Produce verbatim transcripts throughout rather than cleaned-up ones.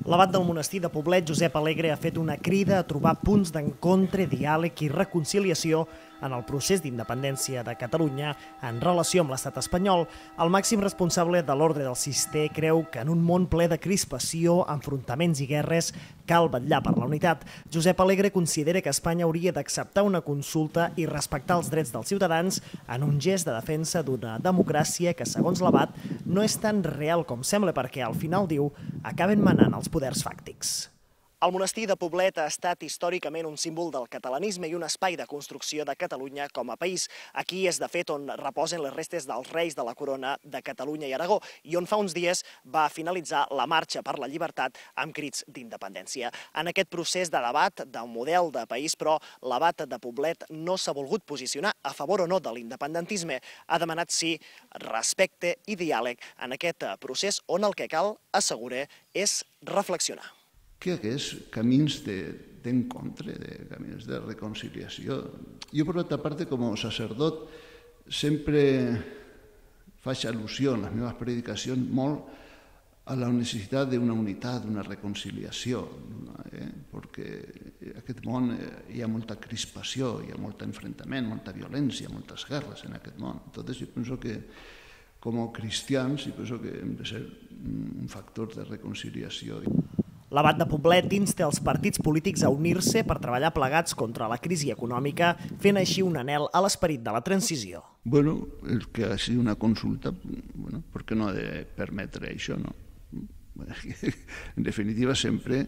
L'abat del monestir de Poblet, Josep Alegre, ha fet una crida a trobar punts d'encontre, diàleg i reconciliació en el procés d'independència de Catalunya en relació amb l'estat espanyol. El màxim responsable de l'ordre del Cister creu que en un món ple de crispació, enfrontaments i guerres cal vetllar per la unitat. Josep Alegre considera que Espanya hauria d'acceptar una consulta i respectar els drets dels ciutadans en un gest de defensa d'una democràcia que, segons l'abat, no és tan real com sembla perquè, al final, diu, acaben manant els poders fàctics. El monestir de Poblet ha estat històricament un símbol del catalanisme i un espai de construcció de Catalunya com a país. Aquí és, de fet, on reposen les restes dels reis de la corona de Catalunya i Aragó i on fa uns dies va finalitzar la marxa per la llibertat amb crits d'independència. En aquest procés de debat d'un model de país, però, l'abat de Poblet no s'ha volgut posicionar a favor o no de l'independentisme. Ha demanat, sí, respecte i diàleg en aquest procés on el que cal, assegura, és reflexionar. Que hagués camins d'encontre, de camins de reconciliació. Jo, per altra part, com a sacerdot, sempre faig al·lusió en les meves predicacions molt a la necessitat d'una unitat, d'una reconciliació, eh? perquè en aquest món hi ha molta crispació, hi ha molt enfrontament, molta violència, moltes guerres en aquest món. Entonces, jo penso que com a cristians, jo penso que hem de ser un factor de reconciliació. L'abat de Poblet insta els partits polítics a unir-se per treballar plegats contra la crisi econòmica, fent així un anhel a l'esperit de la transició. Bueno, el que ha sigut una consulta, bueno, per què no ha de permetre això, no? En definitiva, sempre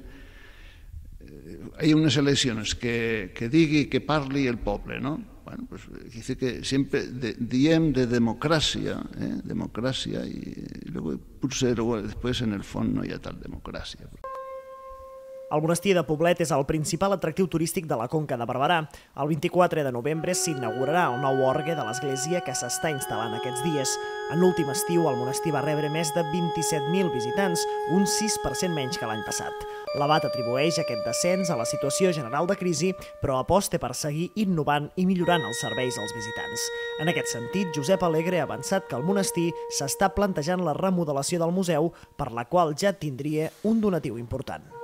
hi ha unes eleccions que, que digui, que parli el poble, no? Bueno, pues dice que sempre de, diem de democràcia, eh? democràcia, i, i luego, potser després en el fons no hi ha tal democràcia. El monestir de Poblet és el principal atractiu turístic de la Conca de Barberà. El vint-i-quatre de novembre s'inaugurarà el nou orgue de l'església que s'està instal·lant aquests dies. En l'últim estiu, el monestir va rebre més de vint-i-set mil visitants, un sis per cent menys que l'any passat. L'abat atribueix aquest descens a la situació general de crisi, però aposta per seguir innovant i millorant els serveis als visitants. En aquest sentit, Josep Alegre ha avançat que el monestir s'està plantejant la remodelació del museu, per la qual ja tindria un donatiu important.